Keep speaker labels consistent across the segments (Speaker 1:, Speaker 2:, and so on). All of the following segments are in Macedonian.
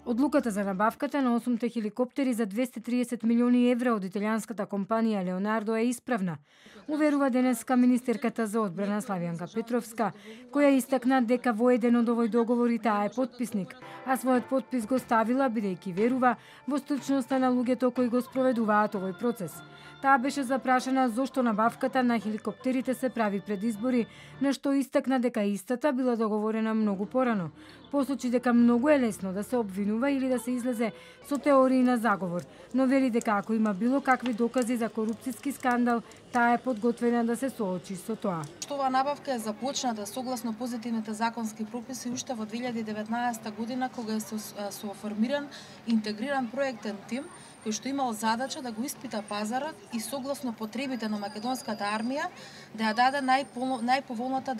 Speaker 1: Одлуката за набавката на 8 хеликоптери за 230 милиони евра од италијанската компанија Леонардо е исправна, уверува денеска министерката за одбрана Славјанка Петровска, која истакна дека во еден од овој договори таа е потписник, а својот потпис го ставила бидејќи верува во стручноста на луѓето кои го спроведуваат овој процес. Таа беше запрашана зошто набавката на хеликоптерите се прави пред избори, на што истакна дека истата била договорена многу порано. Посочи дека многу е лесно да се обвинува или да се излезе со теории на заговор, но вели дека ако има било какви докази за корупцијски скандал, таа е подготвена да се соочи со тоа.
Speaker 2: Оваа набавка е започната согласно позитивните законски прописи уште во 2019 година, кога е соформиран интегриран проектен тим кој што имал задача да го испита пазарот и согласно потребите на македонската армија да ја даде најповолната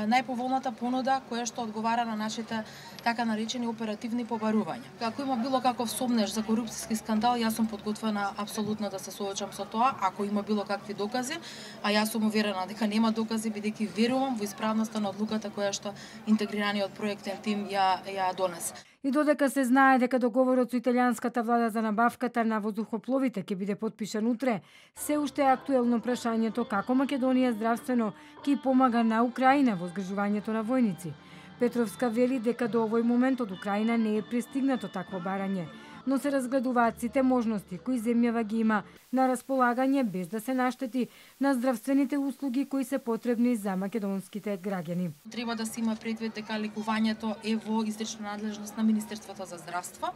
Speaker 2: најповолната понуда која што одговара на нашите така наречени оперативни побарувања. Ако има било каков сомнеж за корупцијски скандал, јас сум подготвена апсолутно да се соочам со тоа, ако има било какви докази, а јас сум уверена дека нема докази бидејќи верувам во исправноста на одлуката која што интегрираниот проектен тим ја донесе.
Speaker 1: И додека се знае дека договорот со италијанската влада за набавката на воздухопловите ќе биде потпишан утре, се уште е актуелно прашањето како Македонија здравствено ќе помага на Украина во згрижувањето на војници. Петровска вели дека до овој момент од Украина не е пристигнато такво барање, но се разгледуваат сите можности кои земјава ги има на располагање без да се наштети на здравствените услуги кои се потребни за македонските граѓани.
Speaker 2: Треба да се има предвид дека лекувањето е во изрична надлежност на Министерството за здравство.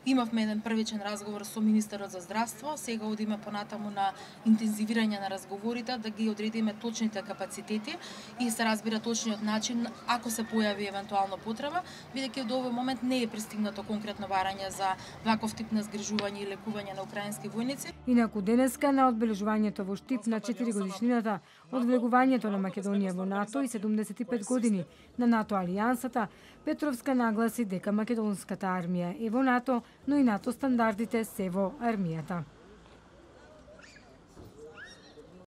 Speaker 2: Имавме еден првичен разговор со министерот за здравство, сега одиме понатаму на интензивирање на разговорите, да ги одредиме точните капацитети и се разбира точниот начин ако се појави евентуално потреба, бидејќи до овој момент не е пристигнато конкретно барање за ваков тип на згрижување и лекување на украински војници.
Speaker 1: Инаку денеска на одбележувањето во Штип на 4 годишнината од влегувањето на Македонија во НАТО и 75 години на НАТО алијансата, Петровска нагласи дека македонската армија е во НАТО, но и НАТО стандардите се во армијата.